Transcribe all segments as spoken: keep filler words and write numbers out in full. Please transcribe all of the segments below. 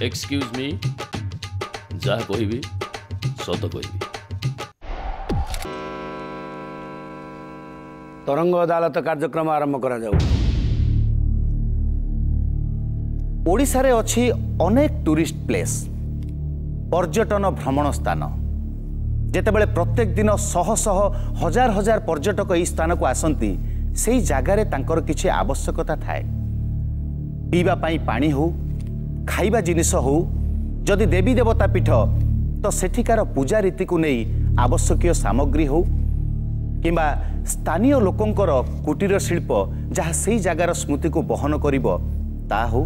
Excuse ମି, ଯାହା କହିବି ସତ କହିବି। ତରଙ୍ଗ ଅଦାଲତ କାର୍ଯ୍ୟକ୍ରମ ଆରମ୍ଭ କରାଯାଉ। ଓଡ଼ିଶାରେ ଅଛି ଅନେକ ଟୁରିଷ୍ଟ ପ୍ଲେସ୍, ପର୍ଯ୍ୟଟନ ଭ୍ରମଣ ସ୍ଥାନ। ଯେତେବେଳେ ପ୍ରତ୍ୟେକ ଦିନ ଶହ ଶହ ହଜାର ହଜାର ପର୍ଯ୍ୟଟକ ଏହି ସ୍ଥାନକୁ ଆସନ୍ତି, ସେଇ ଜାଗାରେ ତାଙ୍କର କିଛି ଆବଶ୍ୟକତା ଥାଏ। ପିଇବା ପାଇଁ ପାଣି ହେଉ, ଖାଇବା ଜିନିଷ ହେଉ, ଯଦି ଦେବୀ ଦେବତା ପୀଠ ତ ସେଠିକାର ପୂଜା ରୀତିକୁ ନେଇ ଆବଶ୍ୟକୀୟ ସାମଗ୍ରୀ ହେଉ, କିମ୍ବା ସ୍ଥାନୀୟ ଲୋକଙ୍କର କୁଟୀର ଶିଳ୍ପ ଯାହା ସେଇ ଜାଗାର ସ୍ମୃତିକୁ ବହନ କରିବ ତା ହେଉ,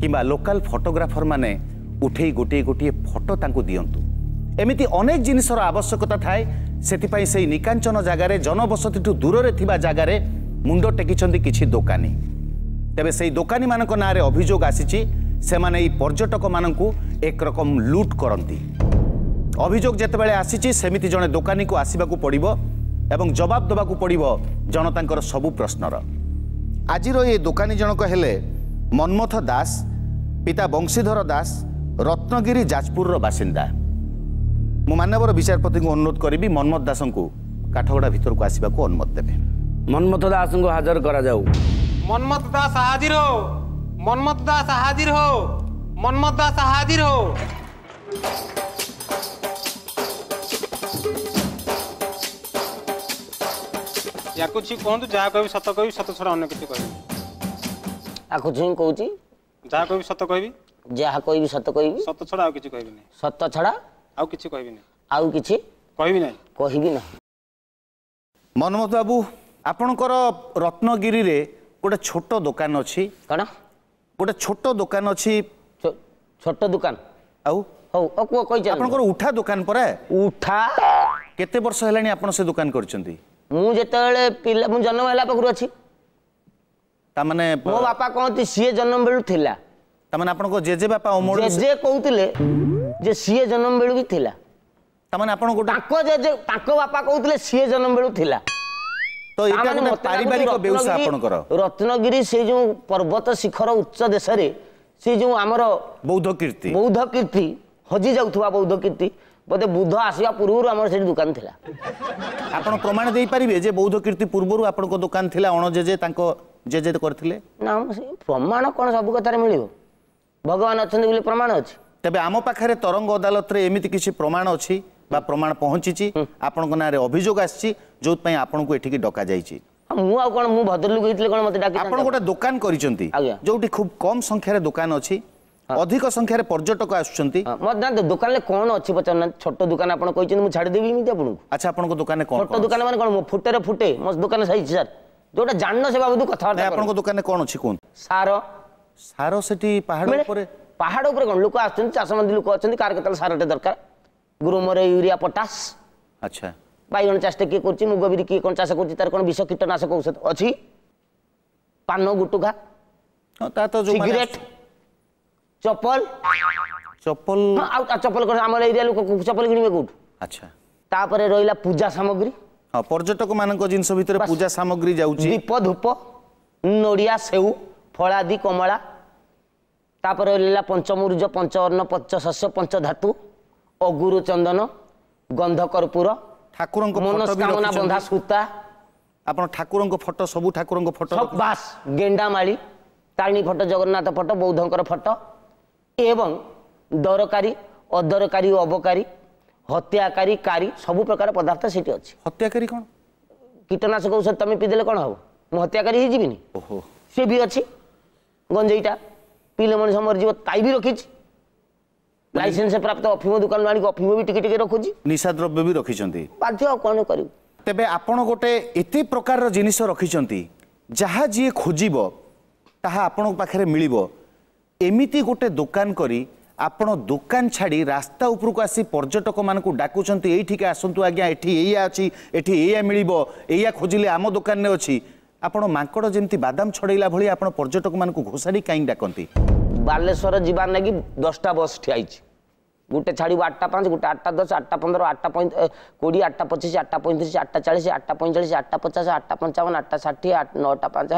କିମ୍ବା ଲୋକାଲ ଫଟୋଗ୍ରାଫରମାନେ ଉଠେଇ ଗୋଟିଏ ଗୋଟିଏ ଫଟୋ ତାଙ୍କୁ ଦିଅନ୍ତୁ, ଏମିତି ଅନେକ ଜିନିଷର ଆବଶ୍ୟକତା ଥାଏ। ସେଥିପାଇଁ ସେଇ ନିକାଞ୍ଚନ ଜାଗାରେ, ଜନବସତିଠୁ ଦୂରରେ ଥିବା ଜାଗାରେ ମୁଣ୍ଡ ଟେକିଛନ୍ତି କିଛି ଦୋକାନୀ। ତେବେ ସେଇ ଦୋକାନୀମାନଙ୍କ ନାଁରେ ଅଭିଯୋଗ ଆସିଛି, ସେମାନେ ଏଇ ପର୍ଯ୍ୟଟକମାନଙ୍କୁ ଏକରକମ ଲୁଟ୍ କରନ୍ତି। ଅଭିଯୋଗ ଯେତେବେଳେ ଆସିଛି, ସେମିତି ଜଣେ ଦୋକାନୀକୁ ଆସିବାକୁ ପଡ଼ିବ ଏବଂ ଜବାବ ଦେବାକୁ ପଡ଼ିବ ଜନତାଙ୍କର ସବୁ ପ୍ରଶ୍ନର। ଆଜିର ଏ ଦୋକାନୀ ଜଣକ ହେଲେ ମନ୍ମଥ ଦାସ, ପିତା ବଂଶୀଧର ଦାସ, ରତ୍ନଗିରି ଯାଜପୁରର ବାସିନ୍ଦା। ମୁଁ ମାନ୍ୟବର ବିଚାରପତିଙ୍କୁ ଅନୁରୋଧ କରିବି ମନ୍ମଥ ଦାସଙ୍କୁ କାଠଗଡ଼ା ଭିତରକୁ ଆସିବାକୁ ଅନୁମତି ଦେବେ। ମନ୍ମଥ ଦାସଙ୍କୁ ହାଜର କରାଯାଉ। ମନ୍ମଥ ଦାସ ହାଜିର ହୋ, ମନ୍ମଥ ଦାସ ହାଜିର ହୋ, ମନ୍ମଥ ଦାସ ହାଜିର ହୋ। ୟାକୁ ଛି କୁହନ୍ତୁ, ଯାହା କହିବି ସତ କହିବି, ସତ ଛଡ଼ା ଅନ୍ୟ କିଛି କହିବି। ଆକୁ ଛୁଇଁ କହୁଛି, ଯାହା କହିବି ସତ କହିବି, ଯାହା କହିବି ସତ କହିବି, ସତ ଛଡ଼ା ଆଉ କିଛି କହିବିନି, ସତ ଛଡ଼ା ଆଉ କିଛି କହିବିନି, ଆଉ କିଛି କହିବି ନାହିଁ, କହିବି ନାହିଁ। ମନ୍ମଥ ବାବୁ, ଆପଣଙ୍କର ରତ୍ନଗିରିରେ ଗୋଟେ ଛୋଟ ଦୋକାନ ଅଛି। କ'ଣ ଗୋଟେ ଛୋଟ ଦୋକାନ ଅଛି? ଛୋଟ ଦୋକାନ? ଆଉ ହଉ କୁହ, କହିଚାଲ। ଆପଣଙ୍କର ଉଠା ଦୋକାନ ପରା? ଉଠା। କେତେ ବର୍ଷ ହେଲାଣି ଆପଣ ସେ ଦୋକାନ କରିଛନ୍ତି? ମୁଁ ଯେତେବେଳେ ପିଲା, ମୁଁ ଜନ୍ମ ହେଲା ପାଖରୁ ଅଛି। ତାମାନେ ମୋ ବାପା କହନ୍ତି ସିଏ ଜନ୍ମ ବେଳୁ ଥିଲା। ତାମାନେ ଆପଣଙ୍କ ଜେଜେ ବାପା ଅମଳ? ଜେଜେ କହୁଥିଲେ ଯେ ସିଏ ଜନ୍ମ ବେଳୁ ବି ଥିଲା। ତାମାନେ ଆପଣ ଗୋଟେ ତାଙ୍କ ଜେଜେ, ତାଙ୍କ ବାପା କହୁଥିଲେ ସିଏ ଜନ୍ମ ବେଳୁ ଥିଲା। ତ ଏଇଟା ଗୋଟେ ପାରିବାରିକ ବ୍ୟବସାୟ ଆପଣଙ୍କର? ରତ୍ନଗିରି ସେଇ ଯୋଉ ପର୍ବତ ଶିଖର ଉଚ୍ଚ ଦେଶରେ ସେ ଯୋଉ ଆମର ବୌଦ୍ଧ କୀର୍ତ୍ତି, ବୌଦ୍ଧ କୀର୍ତ୍ତି ହଜି ଯାଉଥିବା ବୌଦ୍ଧ କୀର୍ତ୍ତି, ବୋଧେ ବୁଦ୍ଧ ଆସିବା ପୂର୍ବରୁ ଆମର ସେଠି ଦୋକାନ ଥିଲା। ଆପଣ ପ୍ରମାଣ ଦେଇପାରିବେ ଯେ ବୌଦ୍ଧ କୀର୍ତ୍ତି ପୂର୍ବରୁ ଆପଣଙ୍କ ଦୋକାନ ଥିଲା, ଅଣ ଜେଜେ ତାଙ୍କ ଜେଜେ କରିଥିଲେ? ନା, ପ୍ରମାଣ କ'ଣ ସବୁ କଥାରେ ମିଳିବ? ଭଗବାନ ଅଛନ୍ତି ବୋଲି ପ୍ରମାଣ ଅଛି। ତେବେ ଆମ ପାଖରେ ତରଙ୍ଗ ଅଦାଲତରେ ଏମିତି କିଛି ପ୍ରମାଣ ଅଛି ବା ପ୍ରମାଣ ପହଞ୍ଚିଛି, ଆପଣଙ୍କ ନାଁରେ ଅଭିଯୋଗ ଆସିଛି, ଯୋଉଥିପାଇଁ ଆପଣଙ୍କୁ ଏଠିକି ଡକାଯାଇଛି। ମୁଁ ଆଉ କ'ଣ, ମୁଁ ଭଦ୍ରଲୋକ ହେଇଥିଲେ କ'ଣ ମତେ ଡାକି? ଆପଣ ଗୋଟେ ଦୋକାନ କରିଛନ୍ତି ଯୋଉଠି ଖୁବ୍ କମ ସଂଖ୍ୟାରେ ଦୋକାନ ଅଛି, ଅଧିକ ସଂଖ୍ୟାରେ ପର୍ଯ୍ୟଟକ ଆସୁଛନ୍ତି। ଦୋକାନରେ କ'ଣ ଅଛି ପଚାରୁନାହାନ୍ତି? ଛୋଟ ଦୋକାନ ଆପଣ କହିଛନ୍ତି, ମୁଁ ଛାଡ଼ିଦେବି ଏମିତି ଆପଣଙ୍କୁ? ଆଚ୍ଛା, ଆପଣଙ୍କ ଦୋକାନରେ କ'ଣ? ଛୋଟ ଦୋକାନ ମାନେ କ'ଣ? ଫୁଟେରେ ଫୁଟେ ମୋ ଦୋକାନ ସାଇଜ ସାର୍, ଯୋଉଟା ଜାଣିନ ସେ ବାବଦକୁ କଥାବାର୍ତ୍ତା। ଆପଣଙ୍କ ଦୋକାନରେ କ'ଣ ଅଛି କୁହନ୍ତୁ? ସାର। ସାର ସେଠି ପାହାଡ଼ ଉପରେ? ପାହାଡ଼ ଉପରେ କ'ଣ ଲୋକ ଆସୁଛନ୍ତି, ଚାଷମନ୍ଦି ଲୋକ ଅଛନ୍ତି, କାହାର କେତେବେଳେ ସାରଟେ ଦରକାର, ଗ୍ରୋମର, ୟୁରିଆ, ପଟାସ। ଆଚ୍ଛା। ବାଇଗଣ ଚାଷଟା କିଏ କରୁଛି, ମୁଗ ବିରି କିଏ କ'ଣ ଚାଷ କରୁଛି, ତାର କ'ଣ ବିଷ କୀଟନାଶକ ଔଷଧ ଅଛି, ପାନ ଗୁଟୁଖା, ସିଗାରେଟ, ଚପଲ। ଚପଲ? ଆଉ ଚପଲ କ'ଣ ଆମର ଏରିଆ ଲୋକ ଚପଲ କିଣିବେ କୋଉଠୁ? ଆଚ୍ଛା। ତାପରେ ରହିଲା ପୂଜା ସାମଗ୍ରୀ। ହଁ, ପର୍ଯ୍ୟଟକ ମାନଙ୍କ ଜିନିଷ ଭିତରେ ପୂଜା ସାମଗ୍ରୀ ଯାଉଛି, ଦୀପ, ଧୂପ, ନଡ଼ିଆ, ସେଉ, ଫଳାଦି, କମଳା। ତାପରେ ରହିଲା ପଞ୍ଚମୁରୁଜ, ପଞ୍ଚଅନ୍ନ, ପଞ୍ଚଶସ୍ୟ, ପଞ୍ଚଧାତୁ, ଅଗୁରୁ, ଚନ୍ଦନ, ଗନ୍ଧ, କର୍ପୂର, ଠାକୁରଙ୍କ ମନସ୍କାମନା ବନ୍ଧା ସୂତା। ଆପଣ ଠାକୁରଙ୍କ ଫଟୋ, ସବୁ ଠାକୁରଙ୍କ ଫଟୋ? ବାସ୍, ଗେଣ୍ଡାମାଳି, ତାରିଣୀ ଫଟୋ, ଜଗନ୍ନାଥ ଫଟୋ, ବୌଦ୍ଧଙ୍କର ଫଟୋ, ଏବଂ ଦରକାରୀ, ଅଦରକାରୀ, ଅବକାରୀ, ହତ୍ୟାକାରୀ, କାରୀ, ସବୁ ପ୍ରକାର ପଦାର୍ଥ ସେଠି ଅଛି। ହତ୍ୟାକାରୀ କ'ଣ? କୀଟନାଶକ ଔଷଧ ତମେ ପିଇଦେଲେ କ'ଣ ହବ? ମୁଁ ହତ୍ୟାକାରୀ ହେଇଯିବିନି? ଓହୋ। ସେ ବି ଅଛି। ଗଞ୍ଜେଇଟା ପିଇଲେ ମଣିଷ ମରିଯିବ, ତାଇ ବି ରଖିଛି। ଲାଇସେନ୍ସ ପ୍ରାପ୍ତ ଅଫିମ ଦୋକାନରୁ ଆଣିକି ଅଫିମ ବି ଟିକେ ଟିକେ ରଖୁଛି। ନିଶା ଦ୍ରବ୍ୟ ବି ରଖିଛନ୍ତି? ବାଧ୍ୟ, ଆଉ କ'ଣ କରିବୁ? ତେବେ ଆପଣ ଗୋଟେ ଏତେ ପ୍ରକାରର ଜିନିଷ ରଖିଛନ୍ତି, ଯାହା ଯିଏ ଖୋଜିବ ତାହା ଆପଣଙ୍କ ପାଖରେ ମିଳିବ। ଏମିତି ଗୋଟେ ଦୋକାନ କରି ଆପଣ ଦୋକାନ ଛାଡ଼ି ରାସ୍ତା ଉପରକୁ ଆସି ପର୍ଯ୍ୟଟକମାନଙ୍କୁ ଡାକୁଛନ୍ତି, ଏଇଠିକି ଆସନ୍ତୁ ଆଜ୍ଞା, ଏଠି ଏଇଆ ଅଛି, ଏଠି ଏଇଆ ମିଳିବ, ଏଇଆ ଖୋଜିଲେ ଆମ ଦୋକାନରେ ଅଛି। ଆପଣ ମାଙ୍କଡ଼ ଯେମିତି ବାଦାମ ଛଡ଼େଇଲା ଭଳି ଆପଣ ପର୍ଯ୍ୟଟକମାନଙ୍କୁ ଘୋଷାଡ଼ି କାହିଁକି ଡାକନ୍ତି? ବାଲେଶ୍ୱର ଯିବାର ଲାଗି ଦଶଟା ବସ୍ ଠିଆ ହେଇଛି। ଗୋଟେ ଛାଡ଼ିବ ଆଠଟା ପାଞ୍ଚ, ଗୋଟେ ଆଠଟା ଦଶ, ଆଠଟା ପନ୍ଦର, ଆଠଟା କୋଡ଼ିଏ, ଆଠଟା ପଚିଶ, ଆଠଟା ପଇଁତିରିଶ, ଆଠଟା ଚାଳିଶ, ଆଠଟା ପଇଁଚାଳିଶ, ଆଠଟା ପଚାଶ, ଆଠଟା ପଞ୍ଚାବନ, ଆଠଟା ଷାଠିଏ, ନଅଟା ପାଞ୍ଚ।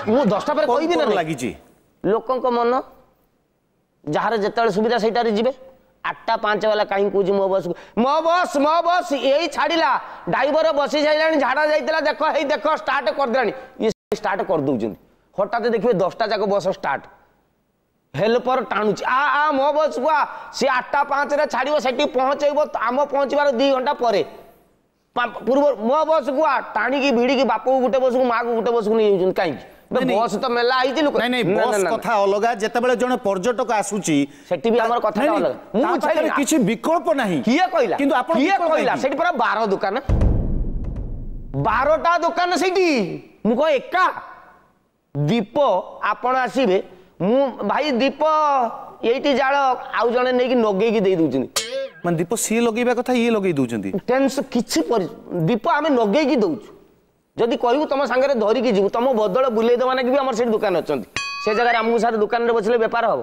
ମୁଁ ଦଶଟା ପରେ କହିବି ନା? ଲାଗିଛି ଲୋକଙ୍କ ମନ ଯାହାର ଯେତେବେଳେ ସୁବିଧା ସେଇଟାରେ ଯିବେ। ଆଠଟା ପାଞ୍ଚ ବାଲା କାହିଁକି କହୁଛି ମୋ ବସ୍କୁ, ମୋ ବସ୍ ମୋ ବସ୍ ଏଇ ଛାଡ଼ିଲା, ଡ୍ରାଇଭର ବସି ସାରିଲାଣି, ଝାଡ଼ା ଯାଇଥିଲା, ଦେଖ ହେଇ ଦେଖ ଷ୍ଟାର୍ଟ କରିଦେଲାଣି, ଇଏ ଷ୍ଟାର୍ଟ କରିଦେଉଛନ୍ତି। ହଠାତ୍ ଦେଖିବେ ଦଶଟା ଯାକ ବସ୍ ଷ୍ଟାର୍ଟ, ହେଲ୍ପର ଟାଣୁଛି, ଆ ଆ ମୋ ବସ୍କୁ ଆ, ସିଏ ଆଠଟା ପାଞ୍ଚରେ ଛାଡ଼ିବ, ସେଠି ପହଞ୍ଚେଇବ ଆମ ପହଞ୍ଚିବାର ଦୁଇ ଘଣ୍ଟା ପରେ ପୂର୍ବ, ମୋ ବସ୍କୁ ଆ, ଟାଣିକି ଭିଡ଼ିକି ବାପକୁ ଗୋଟେ ବସ୍କୁ ମାଆକୁ ଗୋଟେ ବସ୍କୁ ନେଇଯାଉଛନ୍ତି। କାହିଁକି? ବସ୍ ତ ମେଲା ହେଇଛି ଲୋକ। ନାଇଁ ନାଇଁ, ବସ୍ କଥା ଅଲଗା, ଯେତେବେଳେ ଜଣେ ପର୍ଯ୍ୟଟକ ଆସୁଛି ସେଠି ବି ଆମର କଥା ଅଲଗା। ମୁଁ କିଛି ବିକଳ୍ପ ନାହିଁ। କିଏ କହିଲା? କିନ୍ତୁ ଆପଣ କିଏ କହିଲା? ସେଠି ପୁରା ବାର ଦୋକାନ, ବାରଟା ଦୋକାନ ସେଇଠି। ମୁଁ କହ ଏକା ଦୀପ, ଆପଣ ଆସିବେ, ମୁଁ ଭାଇ ଦୀପ ଏଇଠି ଜାଳ, ଆଉ ଜଣେ ନେଇକି ନଗେଇକି ଦେଇ ଦଉଛନ୍ତି। ମାନେ ଦୀପ ସିଏ ଲଗେଇବା କଥା ଇଏ ଲଗେଇ ଦଉଛନ୍ତି। ଟେନ୍ସ କିଛି, ଦୀପ ଆମେ ନଗେଇକି ଦଉଛୁ। ଯଦି କହିବୁ ତମ ସାଙ୍ଗରେ ଧରିକି ଯିବୁ, ତମ ବଦଳ ବୁଲେଇ ଦେବା ନାକି ବି ଆମର ସେଠି ଦୋକାନ ଅଛନ୍ତି। ସେ ଜାଗାରେ ଆମକୁ ସାର୍ ଦୋକାନରେ ବସିଲେ ବେପାର ହବ।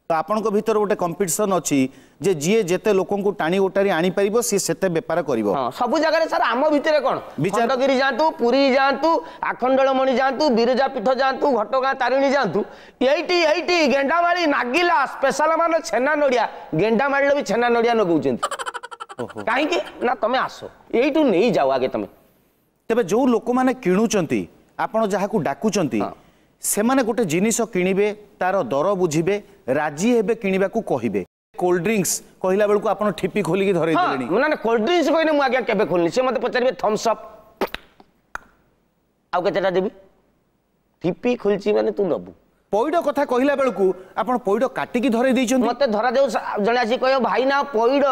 ତ ଆପଣଙ୍କ ଭିତରେ ଗୋଟେ କମ୍ପିଟିସନ ଅଛି ଯେ ଯିଏ ଯେତେ ଲୋକଙ୍କୁ ଟାଣି ଓଟାରି ଆଣିପାରିବ ସିଏ ସେତେ ବେପାର କରିବ। ହଁ, ସବୁ ଜାଗାରେ ସାର୍। ଆମ ଭିତରେ କ'ଣ, ଖଣ୍ଡଗିରି ଯାଆନ୍ତୁ, ପୁରୀ ଯାଆନ୍ତୁ, ଆଖଣ୍ଡଳମଣି ଯାଆନ୍ତୁ, ବିରଜା ପୀଠ ଯାଆନ୍ତୁ, ଘଟଗାଁ ତାରିଣୀ ଯାଆନ୍ତୁ, ଏଇଠି ଏଇଠି ଗେଣ୍ଡାମାଳି ନାଗିଲା ସ୍ପେଶାଲ, ମାନେ ଛେନା ନଡ଼ିଆ, ଗେଣ୍ଡାମାଳିରେ ବି ଛେନା ନଡ଼ିଆ ଲଗାଉଛନ୍ତି। କାହିଁକି ନା ତମେ ଆସ ଏଇଠୁ ନେଇଯାଅ ଆଗେ ତମେ। ତେବେ ଯେଉଁ ଲୋକମାନେ କିଣୁଛନ୍ତି, ଆପଣ ଯାହାକୁ ଡାକୁଛନ୍ତି, ସେମାନେ ଗୋଟେ ଜିନିଷ କିଣିବେ, ତାର ଦର ବୁଝିବେ, ରାଜି ହେବେ କିଣିବାକୁ କହିବେ। କୋଲ୍ଡ ଡ୍ରିଙ୍କସ୍ କହିଲା ବେଳକୁ ଆପଣ ଠିପି ଖୋଲିକି ଧରେଇ ଦେଲେଣି। ନା ନା, କୋଲ୍ଡ ଡ୍ରିଙ୍କସ୍ କହିଲେ ମୁଁ ଆଜ୍ଞା କେବେ ଖୋଲିନି। ସେ ମୋତେ ପଚାରିବେ ଥମ୍ସ ଅପ୍ ଆଉ କେତେଟା ଦେବି, ଠିପି ଖୋଲିଛି ମାନେ ତୁ ନେବୁ। ପଇଡ଼ କଥା କହିଲା ବେଳକୁ ଆପଣ ପଇଡ଼ କାଟିକି ଧରେଇ ଦେଇଛନ୍ତି। ମତେ ଧରାଯାଉ ଜଣେ ଆସି କହିବ ଭାଇ ନା ପଇଡ଼,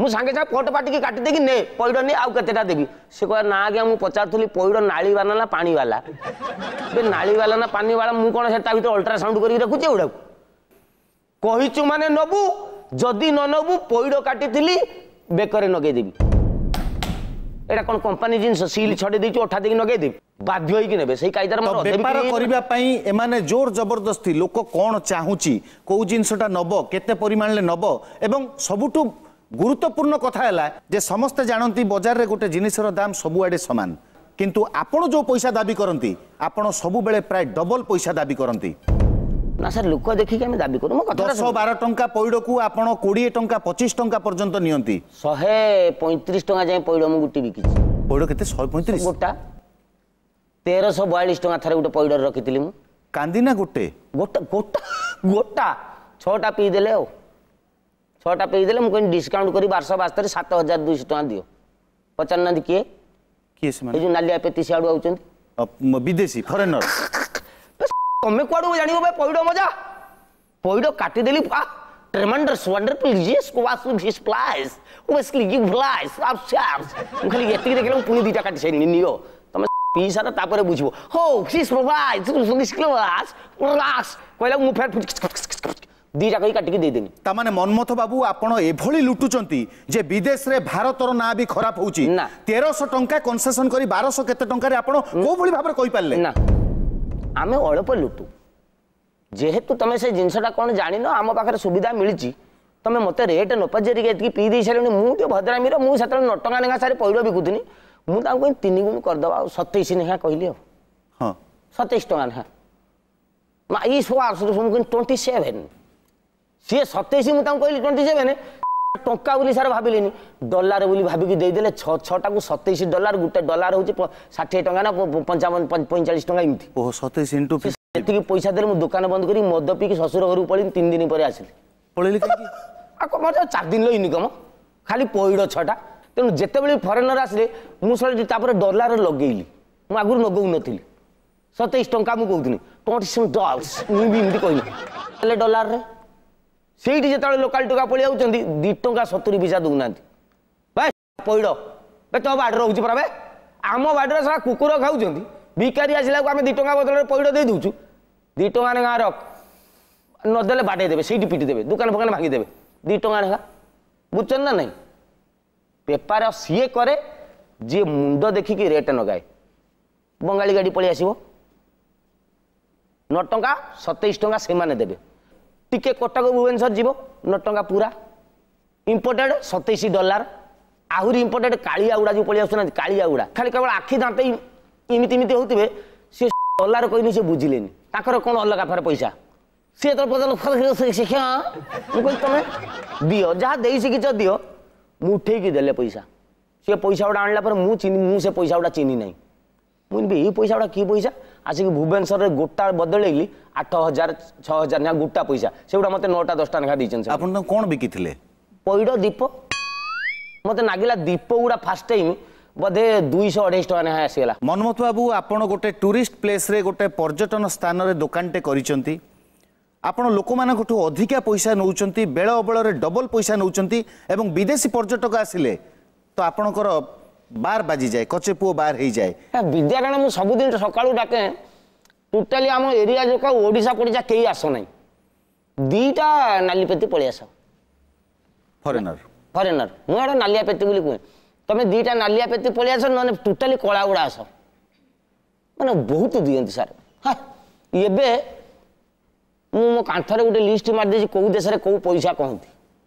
ମୁଁ ସାଙ୍ଗେ ସାଙ୍ଗେ ପଟ ପାଟିକି କାଟି ଦେଇକି ନେ ପଇଡ଼ ନେ ଆଉ କେତେଟା ଦେବି। ସେ କହିବ ନା ଆଜ୍ଞା ମୁଁ ପଚାରୁଥିଲି ପଇଡ଼ ନାଳି ବାଲା ନା ପାଣି ବାଲା। ବେ ନାଳି ବାଲା ନା ପାଣି ବାଲା, ମୁଁ କ'ଣ ସେ ତା ଭିତରେ ଅଲ୍ଟ୍ରାସାଉଣ୍ଡ କରିକି ରଖୁଛି ଏଗୁଡ଼ାକୁ? କହିଛୁ ମାନେ ନବୁ, ଯଦି ନ ନବୁ ପଇଡ଼ କାଟିଥିଲି ବେକରେ ନଗେଇଦେବି। ଏଇଟା କ'ଣ କମ୍ପାନୀ ଜିନିଷ, ସିଲ୍ ଛଡେଇ ଦେଇଛୁ ଅଠା ଦେଇକି ନଗେଇଦେବି? ବାଧ୍ୟ ହେଇକି ନେବେ ସେଇ କାଇଦାରେ। ବେପାର କରିବା ପାଇଁ ଏମାନେ ଜୋର ଜବରଦସ୍ତି, ଲୋକ କ'ଣ ଚାହୁଁଛି, କୋଉ ଜିନିଷଟା ନବ, କେତେ ପରିମାଣରେ ନବ। ଏବଂ ସବୁଠୁ ଗୁରୁତ୍ୱପୂର୍ଣ୍ଣ କଥା ହେଲା ଯେ ସମସ୍ତେ ଜାଣନ୍ତି ବଜାରରେ ଗୋଟେ ଜିନିଷର ଦାମ ସବୁଆଡ଼େ ସମାନ, କିନ୍ତୁ ଆପଣ ଯେଉଁ ପଇସା ଦାବି କରନ୍ତି ଆପଣ ସବୁବେଳେ ପ୍ରାୟ ଡବଲ ପଇସା ଦାବି କରନ୍ତି। ନା ସାର୍, ଲୋକ ଦେଖିକି ଆମେ ଦାବି କରୁ। ଦଶ ବାର ଟଙ୍କା ପଇଡ଼କୁ ଆପଣ କୋଡ଼ିଏ ଟଙ୍କା ପଚିଶ ଟଙ୍କା ପର୍ଯ୍ୟନ୍ତ ନିଅନ୍ତି। ଶହେ ପଇଁତିରିଶ ଟଙ୍କା ଯାଏଁ ପଇଡ଼ ମୁଁ ଗୋଟି ବିକିଛି। ପଇଡ଼ କେତେ? ଶହେ ପଇଁତିରିଶ ଗୋଟା। ତେରଶହ ବୟାଳିଶ ଟଙ୍କା ଥରେ ଗୋଟେ ପଇଡ଼ରେ ରଖିଥିଲି ମୁଁ। କାନ୍ଦି ନା ଗୋଟେ ଗୋଟା ଗୋଟା ଗୋଟା ଛଅଟା ପିଇଦେଲେ, ଆଉ ଛଅଟା ପିଇଦେଲେ। ମୁଁ କହିଲି ଡିସକାଉଣ୍ଟ କରି ବାରଶହ ବାସ୍ତରି ସାତ ହଜାର ଦୁଇଶହ ଟଙ୍କା ଦିଅ। ପଚାରୁନାହାନ୍ତି କିଏ କିଏ ସେମାନେ? ଏଇ ଯୋଉ ନାଲିଆ ପେତି ସିଆଡ଼ୁ ଆଉଛନ୍ତି ବିଦେଶୀ ଫରେନର। ତମେ କୁଆଡ଼ୁ ଜାଣିବ ଭାଇ ପଇଡ଼ ମଜା? ପଇଡ଼ କାଟିଦେଲି, tremendous, wonderful, yes, was his place, obviously you flies upstairs। ମୁଁ ଖାଲି ଏତିକି ଦେଖିଲେ ମୁଁ ପୁଣି ଦୁଇଟା କାଟି ସାରିଲିଣି, ନିଅ ତମେ ପିଇ ସାର ତାପରେ ବୁଝିବ। ହଉ କହିଲା ମୁଁ ଫେର ଦିଟା କହି କାଟିକି ଦେଇଦେଲି। ତାମାନେ ମନ୍ମଥ ବାବୁ ଆପଣ ଏଭଳି ଲୁଟୁଛନ୍ତି ଯେ ବିଦେଶରେ ଭାରତର ନାଁ ବି ଖରାପ ହଉଛି। ତେରଶହ ଟଙ୍କା କନସେସନ କରି ବାରଶହ କେତେ ଟଙ୍କାରେ ଆପଣ କୋଉ ଭଳି ଭାବରେ କହିପାରିଲେ? ନା, ଆମେ ଅଳ୍ପ ଲୁଟୁ। ଯେହେତୁ ତମେ ସେ ଜିନିଷଟା କ'ଣ ଜାଣିନ, ଆମ ପାଖରେ ସୁବିଧା ମିଳିଛି, ତମେ ମୋତେ ରେଟ୍ ନ ପଚାରିକି ଏତିକି ପିଇ ଦେଇ ସାରିଲଣି। ମୁଁ ଟିକେ ଭଦ୍ରାମୀର, ମୁଁ ସେତେବେଳେ ନଅ ଟଙ୍କା ଲେଖା ସାରି ପଇଡ଼ ବିକୁଥିଲି, ମୁଁ ତାଙ୍କୁ କହିଲି ତିନି ଗୁଣ କରିଦେବା ଆଉ ସତେଇଶ ଲେଖା କହିଲି। ଆଉ ହଁ, ସତେଇଶ ଟଙ୍କା ଲେଖା ଏଇ ସବୁ ଆସୁ, ମୁଁ କହିଲି ଟ୍ୱେଣ୍ଟି ସେଭେନ୍। ସିଏ ସତେଇଶ, ମୁଁ ତାଙ୍କୁ କହିଲି ଟ୍ୱେଣ୍ଟି ସେଭେନ୍ ଟଙ୍କା ବୋଲି ସାର୍ ଭାବିଲେନି, ଡଲାର ବୋଲି ଭାବିକି ଦେଇଦେଲେ। ଛଅ ଛଅଟାକୁ ସତେଇଶ ଡଲାର, ଗୋଟେ ଡଲାର ହେଉଛି ଷାଠିଏ ଟଙ୍କା ନା ପଞ୍ଚାବନ ପଇଁଚାଳିଶ ଟଙ୍କା ଏମିତି। ଓହୋ, ସତେଇଶ ଇଣ୍ଟୁ ଏତିକି ପଇସା ଦେଲେ। ମୁଁ ଦୋକାନ ବନ୍ଦ କରି ମଦ ପିଇକି ଶ୍ୱଶୁର ଘରକୁ ପଳେଇଲି, ତିନି ଦିନ ପରେ ଆସିଲି। ପଳେଇଲି ଆଉ କ'ଣ, ଚାରି ଦିନର ଇନକମ୍ ଖାଲି ପଇଡ଼ ଛଅଟା। ତେଣୁ ଯେତେବେଳେ ଫରେନର ଆସିଲେ ମୁଁ ସେଠି ତାପରେ ଡଲାର ଲଗେଇଲି, ମୁଁ ଆଗରୁ ଲଗଉନଥିଲି। ସତେଇଶ ଟଙ୍କା ମୁଁ କହୁଥିଲି ଟ୍ୱେଣ୍ଟି ସେଭେନ୍ ଡଲାର୍ସ, ମୁଁ ବି ଏମିତି କହିଲି ହେଲେ ଡଲାରରେ। ସେଇଠି ଯେତେବେଳେ ଲୋକାଲ ଟଙ୍କା ପଳେଇ ଯାଉଛନ୍ତି, ଦୁଇ ଟଙ୍କା ସତୁରି ପଇସା ଦେଉନାହାନ୍ତି। ଭାଇ ପଇଡ଼ ବେ ତୋ ବାଡ଼ିରେ ରହୁଛି ପରା ବେ, ଆମ ବାଡ଼ିରେ ସାରା କୁକୁର ଖାଉଛନ୍ତି, ଭିକାରୀ ଆସିଲାକୁ ଆମେ ଦୁଇ ଟଙ୍କା ବଦଳରେ ପଇଡ଼ ଦେଇ ଦେଉଛୁ। ଦୁଇ ଟଙ୍କା ଲେଖା ରଖ, ନଦେଲେ ବାଡ଼େଇ ଦେବେ, ସେଇଠି ପିଟି ଦେବେ, ଦୋକାନ ଫୋକାନ ଭାଙ୍ଗିଦେବେ। ଦୁଇ ଟଙ୍କା ଲେଖା ବୁଝୁଛନ୍ତି ନା ନାଇଁ? ବେପାର ସିଏ କରେ ଯିଏ ମୁଣ୍ଡ ଦେଖିକି ରେଟ୍ ନଗାଏ। ବଙ୍ଗାଳୀ ଗାଡ଼ି ପଳେଇ ଆସିବ, ନଅ ଟଙ୍କା ସତେଇଶ ଟଙ୍କା ସେମାନେ ଦେବେ। ଟିକେ କଟକ ଭୁବନେଶ୍ୱର ଯିବ, ନଅ ଟଙ୍କା ପୁରା ଇମ୍ପୋର୍ଟେଡ଼ ସତେଇଶ ଡଲାର। ଆହୁରି ଇମ୍ପୋର୍ଟେଡ଼ କାଳିଆ ଗୁଡ଼ା ଯେଉଁ ପଳେଇ ଆସୁନାହାନ୍ତି, କାଳିଆ ଗୁଡ଼ା ଖାଲି କେବଳ ଆଖି ଦାନ୍ତ ଏମିତି ଏମିତି ହେଉଥିବେ, ସେ ଡଲାର କହିନି ସେ ବୁଝିଲେନି, ତାଙ୍କର କ'ଣ ଅଲଗା ଫେର ପଇସା। ସିଏ ଯେତେବେଳେ ପଚାରିଲେ ଶିକ୍ଷା, ମୁଁ କହିଲି ତମେ ଦିଅ, ଯାହା ଦେଇ ଶିଖିଛ ଦିଅ। ମୁଁ ଉଠେଇକି ଦେଲେ ପଇସା। ସିଏ ପଇସା ଗୁଡ଼ା ଆଣିଲା ପରେ ମୁଁ ଚିହ୍ନି, ମୁଁ ସେ ପଇସା ଗୁଡ଼ା ଚିହ୍ନି ନାହିଁ। ମୁଁ କହିଲି ଏଇ ପଇସା ଗୁଡ଼ା କି ପଇସା? ଆସିକି ଭୁବନେଶ୍ୱରରେ ଗୋଟା ବଦଳେଇଲି, ଆଠ ହଜାର ଛଅ ହଜାର ଲେଖା ଗୋଟା ପଇସା। ସେଗୁଡ଼ା ମୋତେ ନଅଟା ଦଶଟା ଲେଖା ଦେଇଛନ୍ତି। ଆପଣ ତାଙ୍କୁ କ'ଣ ବିକିଥିଲେ? ପଇଡ଼, ଦୀପ। ମୋତେ ନାଗିଲା ଦୀପ ଗୁଡ଼ା ଫାଷ୍ଟ ଟାଇମ୍ ବୋଧେ ଦୁଇଶହ ଅଢ଼େଇଶହ ଟଙ୍କା ଲେଖା ଆସିଗଲା। ମନ୍ମଥ ବାବୁ, ଆପଣ ଗୋଟେ ଟୁରିଷ୍ଟ ପ୍ଲେସ୍ରେ, ଗୋଟେ ପର୍ଯ୍ୟଟନ ସ୍ଥାନରେ ଦୋକାନଟେ କରିଛନ୍ତି। ଆପଣ ଲୋକମାନଙ୍କଠୁ ଅଧିକା ପଇସା ନେଉଛନ୍ତି, ବେଳ ଅବେଳରେ ଡବଲ ପଇସା ନେଉଛନ୍ତି, ଏବଂ ବିଦେଶୀ ପର୍ଯ୍ୟଟକ ଆସିଲେ ତ ଆପଣଙ୍କର ବାର ବାଜିଯାଏ, କଚେ ପୁଅ ବାର ହେଇଯାଏ। ବିଦ୍ୟାରାଣ ମୁଁ ସବୁଦିନ ସକାଳୁ ଡାକେ, ଟୋଟାଲି ଆମ ଏରିଆ ଯାକ ଓଡ଼ିଶା ପଡ଼ିଶା କେହି ଆସ ନାହିଁ, ଦୁଇଟା ନାଲିପେତି ପଳେଇ ଆସ। ଫରେନର? ଫରେନର। ମୁଁ ଏଇଟା ନାଲିଆ ପେତି ବୋଲି କୁହେ। ତମେ ଦୁଇଟା ନାଲିଆ ପେତି ପଳେଇ ଆସ, ନହେଲେ ଟୋଟାଲି କଳା ଗୁଡ଼ା ଆସ। ମାନେ ବହୁତ ଦିଅନ୍ତି ସାର୍। ହଁ, ଏବେ ମୁଁ ମୋ କାନ୍ଥରେ ଗୋଟେ ଲିଷ୍ଟ ମାରିଦେଇଛି, କେଉଁ ଦେଶରେ କେଉଁ ପଇସା କହନ୍ତି।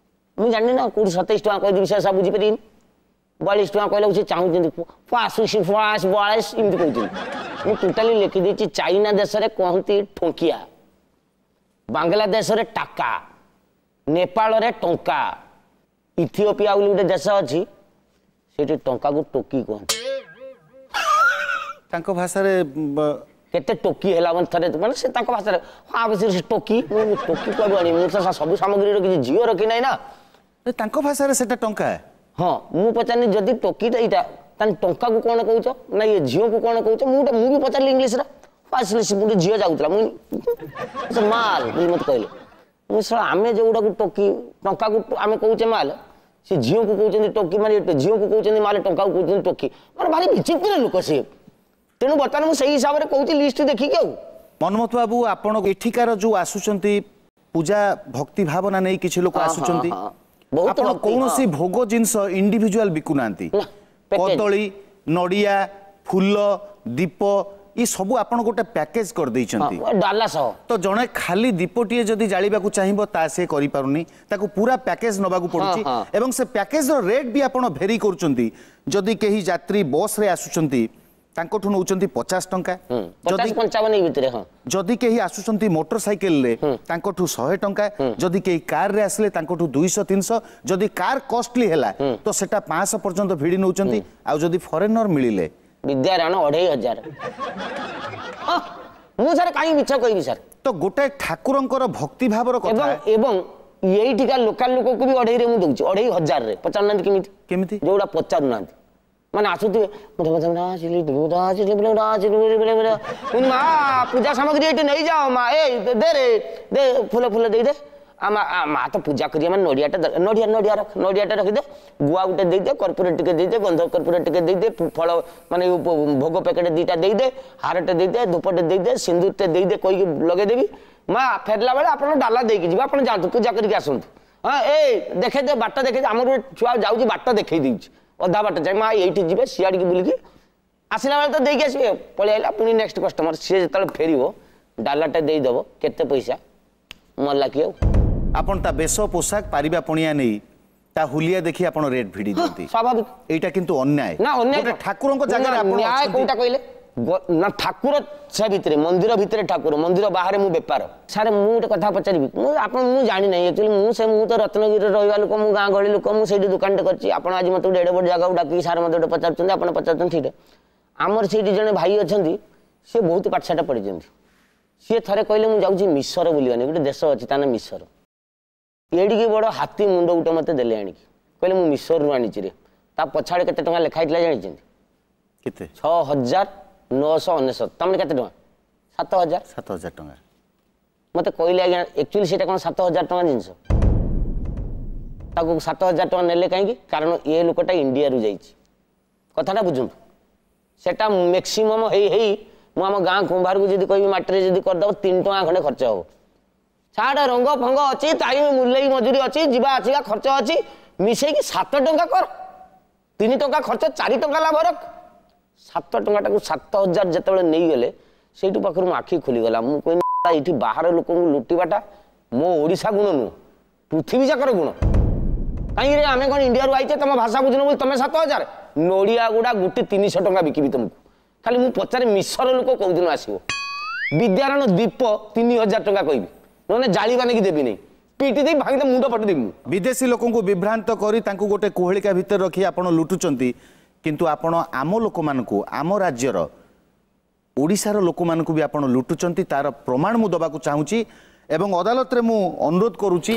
ମୁଁ ଜାଣିନି ନା, କେଉଁଠି ସତେଇଶ ଟଙ୍କା କହିଦେବି, ସେ ସବୁ ବୁଝିପାରିବିନି। ବୟାଳିଶ ଟଙ୍କା କହିଲାକୁ ସେ ଚାହୁଁଛନ୍ତି ଫାସ୍ ବୟାଳିଶ ଏମିତି କହୁଛନ୍ତି। ମୁଁ ଟୋଟାଲି ଲେଖିଦେଇଛି, ଚାଇନା ଦେଶରେ କହନ୍ତି ଠୋଙ୍କିଆ, ବାଂଲାଦେଶରେ ଟାକା, ନେପାଳରେ ଟଙ୍କା, ଇଥିଓପିଆ ବୋଲି ଗୋଟେ ଦେଶ ଅଛି, ସେଠି ଟଙ୍କାକୁ ଟୋକି କୁହନ୍ତି। ତାଙ୍କ ଭାଷାରେ କେତେ ଟୋକି ହେଲା ମାନେ ଥରେ ମାନେ ସେ ତାଙ୍କ ଭାଷାରେ, ହଁ ସେ ଟୋକି। ମୁଁ ଟୋକି କୁଆଡ଼ୁ ଆଣିବି? ମୁଁ ତ ସବୁ ସାମଗ୍ରୀ ରଖିଛି, ଝିଅ ରଖିନାହିଁ ନା। ତାଙ୍କ ଭାଷାରେ ସେଟା ଟଙ୍କା? ହଁ। ମୁଁ ପଚାରିଲି, ଯଦି ଟୋକିଟା ଏଇଟା, ତାହେଲେ ଟଙ୍କାକୁ କ'ଣ କହୁଛ ନା ଇଏ ଝିଅକୁ କ'ଣ କହୁଛ? ମୁଁ ଗୋଟେ ମୁଁ ବି ପଚାରିଲି ଇଂଲିଶରେ। ଆସିଲି, ଗୋଟେ ଝିଅ ଯାଉଥିଲା, ମୁଁ ସେ ମାଲ ବୋଲି ମୋତେ କହିଲେ। ମୁଁ ଶଳା, ଆମେ ଯେଉଁଗୁଡ଼ାକୁ ଟୋକି, ଟଙ୍କାକୁ ଆମେ କହୁଛେ ମାଲ, ସେ ଝିଅକୁ କହୁଛନ୍ତି ଟୋକି, ମାନେ ଝିଅକୁ କହୁଛନ୍ତି ମାଲ, ଟଙ୍କାକୁ କହୁଛନ୍ତି ଟୋକି, ମାନେ ଭାରି ବିଚିତ୍ର ଲୋକ ସିଏ। ତେଣୁ ବର୍ତ୍ତମାନ ମୁଁ ସେଇ ହିସାବରେ କହୁଛି ଲିଷ୍ଟ ଦେଖିକି। ଆଉ ମନ୍ମଥ ବାବୁ, ଆପଣ ଏଠିକାର ଯୋଉ ଆସୁଛନ୍ତି ପୂଜା ଭକ୍ତି ଭାବନା ନେଇ କିଛି ଲୋକ ଆସୁଛନ୍ତି, ଆପଣ କୌଣସି ଭୋଗ ଜିନିଷ ଇଣ୍ଡିଭିଜୁଆଲ ବିକୁନାହାନ୍ତି। କଦଳୀ, ନଡ଼ିଆ, ଫୁଲ, ଦୀପ ଏ ସବୁ ଆପଣ ଗୋଟେ ପ୍ୟାକେଜ କରିଦେଇଛନ୍ତି ଡାଲା ସହ। ତ ଜଣେ ଖାଲି ଦୀପଟିଏ ଯଦି ଜାଳିବାକୁ ଚାହିଁବ ତା ସେ କରିପାରୁନି, ତାକୁ ପୁରା ପ୍ୟାକେଜ ନେବାକୁ ପଡୁଛି, ଏବଂ ସେ ପ୍ୟାକେଜର ରେଟ୍ ବି ଆପଣ ଭେରି କରୁଛନ୍ତି। ଯଦି କେହି ଯାତ୍ରୀ ବସ୍ରେ ଆସୁଛନ୍ତି ତାଙ୍କଠୁ ନେଉଛନ୍ତି ପଚାଶ ଟଙ୍କା, ଯଦି ପଞ୍ଚାବନ ଭିତରେ। ହଁ, ଯଦି କେହି ଆସୁଛନ୍ତି ମୋଟର ସାଇକେଲରେ ତାଙ୍କଠୁ ଶହେ ଟଙ୍କା, ଯଦି କେହି କାରରେ ଆସିଲେ ତାଙ୍କଠୁ ଦୁଇଶହ ତିନିଶହ, ଯଦି କାର୍ କଷ୍ଟଲି ହେଲା ତ ସେଟା ପାଞ୍ଚଶହ ପର୍ଯ୍ୟନ୍ତ ଭିଡ଼ି ନେଉଛନ୍ତି, ଆଉ ଯଦି ଫରେନର ମିଳିଲେ ବିଦ୍ୟାରାଣ ଅଢ଼େଇ ହଜାର। ମୁଁ ସାର୍ କାହିଁ ମିଛ କହିବି ସାର୍? ତ ଗୋଟାଏ ଠାକୁରଙ୍କର ଭକ୍ତି ଭାବର କଥା, ଏବଂ ଏଇଠିକା ଲୋକାଲ ଲୋକକୁ ବି ଅଢ଼େଇରେ ମୁଁ ଦଉଛି, ଅଢ଼େଇ ହଜାରରେ। ପଚାରୁନାହାନ୍ତି କେମିତି? କେମିତି? ଯୋଉଟା ପଚାରୁନାହାନ୍ତି, ମାନେ ଆସୁଥିବେ, ମା ପୂଜା ସାମଗ୍ରୀ ଏଇଠି ନେଇଯାଅ, ମା ଏ ଦେ ରେ ଦେ, ଫୁଲ ଫୁଲ ଦେଇଦେ। ମା ତ ପୂଜା କରିବା ମାନେ ନଡ଼ିଆଟା, ନଡ଼ିଆ ନଡ଼ିଆ ରଖ, ନଡ଼ିଆଟା ରଖିଦେ, ଗୁଆ ଗୋଟେ ଦେଇଦେ, କର୍ପୂର ଟିକେ ଦେଇଦେ, ଗନ୍ଧ କର୍ପୂର ଟିକେ ଦେଇଦେ, ଫଳ ମାନେ ଭୋଗ ପ୍ୟାକେଟ ଦୁଇଟା ଦେଇଦେ, ହାରଟେ ଦେଇଦେ, ଧୂପଟେ ଦେଇଦେ, ସିନ୍ଦୁରଟେ ଦେଇଦେ କହିକି ଲଗେଇଦେବି। ମା ଫେରିଲା ବେଳେ ଆପଣ ଡାଲା ଦେଇକି ଯିବେ, ଆପଣ ଯାଆନ୍ତୁ ପୂଜା କରିକି ଆସନ୍ତୁ। ହଁ, ଏ ଦେଖେଇଦେ ବାଟ, ଦେଖେଇଦେ। ଆମର ଗୋଟେ ଛୁଆ ଯାଉଛି, ବାଟ ଦେଖେଇ ଦେଇଛି ଅଧା ବାଟ ଯାଏ। ମା ଏଇଠି ଯିବେ, ସିଆଡ଼ିକି ବୁଲିକି ଆସିଲା ବେଳେ ତ ଦେଇକି ଆସିବେ। ପଳେଇ ଆଇଲା ପୁଣି ନେକ୍ସଟ କଷ୍ଟମର, ସିଏ ଯେତେବେଳେ ଫେରିବ ଡାଲାଟା ଦେଇଦେବ, କେତେ ପଇସା ମଲା କି ଆଉ। ଆପଣ ତା ବେଶ ପୋଷାକ ପାରିବା ପଣିଆ ନେଇ ତା ହୁଲିଆ ଦେଖି ଆପଣ ରେଟ୍ ଭିଡ଼ି ଦିଅନ୍ତି? ସ୍ୱାଭାବିକ। ଏଇଟା କିନ୍ତୁ ଅନ୍ୟାୟ ନା? ଅନ୍ୟାୟ ଗୋଟେ ଠାକୁରଙ୍କ ଜାଗାରେ ଆପଣ ନ୍ୟାୟ କୋଉଟା କହିଲେ ନା? ଠାକୁର ସେ ଭିତରେ, ମନ୍ଦିର ଭିତରେ ଠାକୁର, ମନ୍ଦିର ବାହାରେ ମୁଁ ବେପାର। ସାର୍ ମୁଁ ଗୋଟେ କଥା ପଚାରିବି, ମୁଁ ଆପଣ ମୁଁ ଜାଣିନାହିଁ ଆକ୍ଚୁଆଲି। ମୁଁ ସେ ମୁଁ ତ ରତ୍ନଗିରିରେ ରହିବା ଲୋକ, ମୁଁ ଗାଁ ଗହଳି ଲୋକ, ମୁଁ ସେଇଠି ଦୋକାନଟେ କରିଛି। ଆପଣ ଆଜି ମୋତେ ଗୋଟେ ଏଡ଼େ ବଡ଼ ଜାଗାକୁ ଡାକିକି ସାର୍ ମୋତେ ଗୋଟେ ପଚାରୁଛନ୍ତି, ଆପଣ ପଚାରୁଛନ୍ତି ସେଇଟା। ଆମର ସେଇଠି ଜଣେ ଭାଇ ଅଛନ୍ତି, ସିଏ ବହୁତ ପାଠଶାଠ ପଢ଼ିଛନ୍ତି। ସିଏ ଥରେ କହିଲେ ମୁଁ ଯାଉଛି ମିଶର ବୁଲିବାନି, ଗୋଟେ ଦେଶ ଅଛି ତା ନାଁ ମିଶର। ଏଡ଼ିକି ବଡ଼ ହାତୀ ମୁଣ୍ଡ ଗୋଟେ ମୋତେ ଦେଲେ ଆଣିକି, କହିଲେ ମୁଁ ମିଶରରୁ ଆଣିଛି ରେ। ତା ପଛଆଡ଼େ କେତେ ଟଙ୍କା ଲେଖା ହେଇଥିଲା ଜାଣିଛନ୍ତି? କେତେ? ଛଅ ହଜାର ନଅଶହ ଅନେଶତ। ତାମାନେ କେତେ ଟଙ୍କା? ସାତ ହଜାର। ସାତ ହଜାର ଟଙ୍କା ମୋତେ କହିଲେ ଆଜ୍ଞା, ଆକ୍ଚୁଆଲି ସେଇଟା କ'ଣ ସାତ ହଜାର ଟଙ୍କା ଜିନିଷ? ତାକୁ ସାତ ହଜାର ଟଙ୍କା ନେଲେ କାହିଁକି? କାରଣ ଏ ଲୋକଟା ଇଣ୍ଡିଆରୁ ଯାଇଛି। କଥାଟା ବୁଝନ୍ତୁ। ସେଟା ମ୍ୟାକ୍ସିମମ୍ ହେଇ ହେଇ ମୁଁ ଆମ ଗାଁ କୁମ୍ଭାରକୁ ଯଦି କହିବି ମାଟିରେ ଯଦି କରିଦେବ, ତିନି ଟଙ୍କା ଖଣ୍ଡେ ଖର୍ଚ୍ଚ ହେବ। ଛାଡ଼, ରଙ୍ଗ ଫଙ୍ଗ ଅଛି, ଟାଇମ୍ ମୂଲେଇ ମଜୁରୀ ଅଛି, ଯିବା ଆସିବା ଖର୍ଚ୍ଚ ଅଛି, ମିଶେଇକି ସାତ ଟଙ୍କା କର। ତିନି ଟଙ୍କା ଖର୍ଚ୍ଚ, ଚାରି ଟଙ୍କା ଲାଭ ରଖ। ସାତ ଟଙ୍କାଟାକୁ ସାତ ହଜାର ଯେତେବେଳେ ନେଇଗଲେ, ସେଇଠୁ ପାଖରୁ ମୋ ଆଖି ଖୋଲିଗଲା। ମୁଁ କହିଲି ଏଇଠି ବାହାର ଲୋକଙ୍କୁ ଲୁଟିବାଟା ମୋ ଓଡ଼ିଶା ଗୁଣ ନୁହଁ, ପୃଥିବୀ ଯାକର ଗୁଣ। କାହିଁକି ଆମେ କ'ଣ ଇଣ୍ଡିଆରୁ ଆଇଛେ? ତମ ଭାଷା ବୁଝୁନ ବୋଲି ତମେ ସାତ ହଜାର। ନଡ଼ିଆ ଗୁଡ଼ା ଗୋଟେ ତିନିଶହ ଟଙ୍କା ବିକିବି ତମକୁ। ଖାଲି ମୁଁ ପଚାରେ ମିଶର ଲୋକ କୋଉଦିନ ଆସିବ? ବିଦ୍ୟାରଣ ଦୀପ ତିନି ହଜାର ଟଙ୍କା କହିବି। ନହେଲେ ଜାଳିବା ନେଇକି ଦେବିନି, ପିଟି ଦେଇ ଭାଙ୍ଗି ମୁଣ୍ଡ ଫଟେଇ ଦେବି ମୁଁ। ବିଦେଶୀ ଲୋକଙ୍କୁ ବିଭ୍ରାନ୍ତ କରି ତାଙ୍କୁ ଗୋଟେ କୁହେଳିକା ଭିତରେ ରଖି ଆପଣ ଲୁଟୁଛନ୍ତି, କିନ୍ତୁ ଆପଣ ଆମ ଲୋକମାନଙ୍କୁ, ଆମ ରାଜ୍ୟର ଓଡ଼ିଶାର ଲୋକମାନଙ୍କୁ ବି ଆପଣ ଲୁଟୁଛନ୍ତି। ତାର ପ୍ରମାଣ ମୁଁ ଦେବାକୁ ଚାହୁଁଛି ଏବଂ ଅଦାଲତରେ ମୁଁ ଅନୁରୋଧ କରୁଛି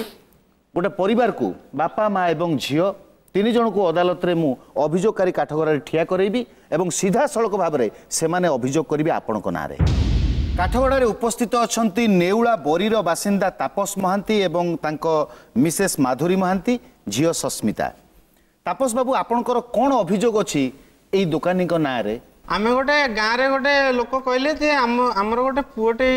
ଗୋଟେ ପରିବାରକୁ, ବାପା ମା ଏବଂ ଝିଅ ତିନି ଜଣକୁ ଅଦାଲତରେ ମୁଁ ଅଭିଯୋଗକାରୀ କାଠଗଡ଼ାରେ ଠିଆ କରାଇବି ଏବଂ ସିଧାସଳଖ ଭାବରେ ସେମାନେ ଅଭିଯୋଗ କରିବେ ଆପଣଙ୍କ ନାଁରେ। କାଠଗଡ଼ାରେ ଉପସ୍ଥିତ ଅଛନ୍ତି ନେଉଳା ବରିର ବାସିନ୍ଦା ତାପସ ମହାନ୍ତି ଏବଂ ତାଙ୍କ ମିସେସ୍ ମାଧୁରୀ ମହାନ୍ତି, ଝିଅ ସସ୍ମିତା। ତାପସ ବାବୁ, ଆପଣଙ୍କର କ'ଣ ଅଭିଯୋଗ ଅଛି ଏଇ ଦୋକାନୀଙ୍କ ନାଁରେ? ଆମେ ଗୋଟେ ଗାଁରେ ଗୋଟେ ଲୋକ କହିଲେ ଯେ ଆମ ଆମର ଗୋଟେ ପୁଅଟେ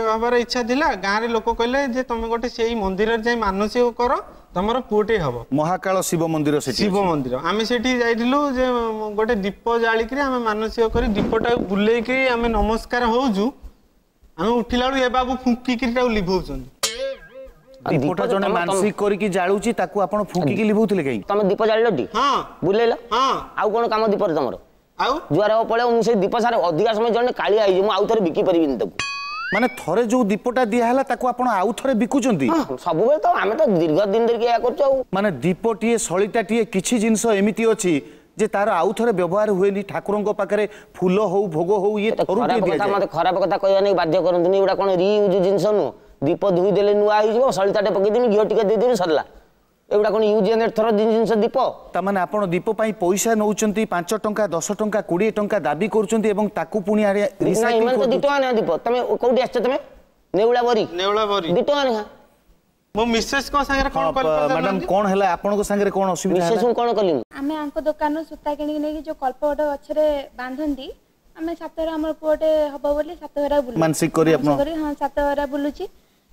ହବାର ଇଚ୍ଛା ଥିଲା। ଗାଁରେ ଲୋକ କହିଲେ ଯେ ତମେ ଗୋଟେ ସେଇ ମନ୍ଦିରରେ ଯାଇ ମାନସିକ କର, ତମର ପୁଅଟେ ହବ। ମହାକାଳ ଶିବ ମନ୍ଦିର ସେଠି, ଶିବ ମନ୍ଦିର ଆମେ ସେଠି ଯାଇଥିଲୁ ଯେ ଗୋଟେ ଦୀପ ଜାଳିକିରି ଆମେ ମାନସିକ କରି ଦୀପଟାକୁ ବୁଲେଇକିରି ଆମେ ନମସ୍କାର ହଉଛୁ। ଆମେ ଉଠିଲା ବେଳକୁ ଏ ବାବୁ ଫୁଙ୍କିକିରି ତାକୁ ଲିଭଉଛନ୍ତି। ଦୀପଟା ଜଣେ ମାନସିକ କରିକି ଜାଳୁଛି, ତାକୁ ଆପଣ ଫୁଙ୍କିକି ଲିଭଉଥିଲେ କାହିଁକି? ତମେ ଦୀପ ଜାଳିଲ ଟି? ହଁ। ବୁଲେଇଲ? ହଁ। ଆଉ କଣ କାମ ଦୀପରେ ତମର? ଆଉ ଜୁଆର ହବ ପଳେଇବ। ମୁଁ ସେଇ ଦୀପ ସାର ଅଧିକା ସମୟ ଜଣେ କାଳିଆ ହେଇଯିବ, ମୁଁ ଆଉ ଥରେ ବିକି ପାରିବିନି ତାକୁ। ମାନେ ଥରେ ଯୋଉ ଦୀପଟା ଦିଆହେଲା ତାକୁ ଆପଣ ଆଉ ଥରେ ବିକୁଛନ୍ତି? ସବୁବେଳେ ତ ଆମେ ତ ଦୀର୍ଘ ଦିନ ଧରିକି ଏହା କରୁଛୁ। ଆଉ ମାନେ ଦୀପଟିଏ, ସଳିତାଟିଏ, କିଛି ଜିନିଷ ଏମିତି ଅଛି ଯେ ତାର ଆଉ ଥରେ ବ୍ୟବହାର ହୁଏନି। ଠାକୁରଙ୍କ ପାଖରେ ଫୁଲ ହଉ, ଭୋଗ ହଉ, ଇଏ ଥରୁଟିଏ ଦିଆଯାଏ। ମତେ ଖରାପ କଥା କହିବା ନେଇ ବାଧ୍ୟ କରନ୍ତୁନି। ଏଗୁଡ଼ା କଣ ରିୟୁଜ୍ ଜିନିଷ ନୁହଁ? ଦୀପ ଧୋଇ ଦେଲେ ନୂଆ ହେଇଯିବ, ସଳିତାଟେ ପକେଇଦେବି, ଘିଅ ଟିକେ ଦେଇଦେବି, ସରିଲା। ଏଗୁଡ଼ା କଣ ୟୁଜ୍ ଏଣ୍ଡ ଥର ଜିନିଷ ଦୀପ? ତାମାନେ ଆପଣ ଦୀପ ପାଇଁ ପଇସା ନେଉଛନ୍ତି, ପାଞ୍ଚ ଟଙ୍କା, ଦଶ ଟଙ୍କା, କୋଡ଼ିଏ ଟଙ୍କା ଦାବି କରୁଛନ୍ତି ଏବଂ ତାକୁ ପୁଣି ଏମାନେ ତ ଦି ଟଙ୍କା ନେଖା ଦୀପ। ତମେ କୋଉଠି ଆସିଛ? ତମେ ନେଉଳା ବରି? ନେଉଳା ବରି ଦି ଟଙ୍କା ନେଖା। ମୋ ମିସେସ୍ ଙ୍କ ସାଙ୍ଗରେ କଣ କଲି ମ୍ୟାଡାମ? କଣ ହେଲା ଆପଣଙ୍କ ସାଙ୍ଗରେ? କଣ ଅସୁବିଧା ହେଲା? ମିସେସ୍ କଣ କଲି ମୁଁ? ଆମେ ଆଙ୍କ ଦୋକାନରୁ ସୂତା କିଣିକି ନେଇକି ଯୋଉ କଳ୍ପବଟ ଗଛରେ ବାନ୍ଧନ୍ତି, ଆମେ ସାତଘରା ଆମର ପୁଅଟେ ହବ ବୋଲି ସାତଘରା ବୁଲୁ ମାନସିକ କରି ଆପଣ? ହଁ, ସାତଘରା ବୁଲୁଛି।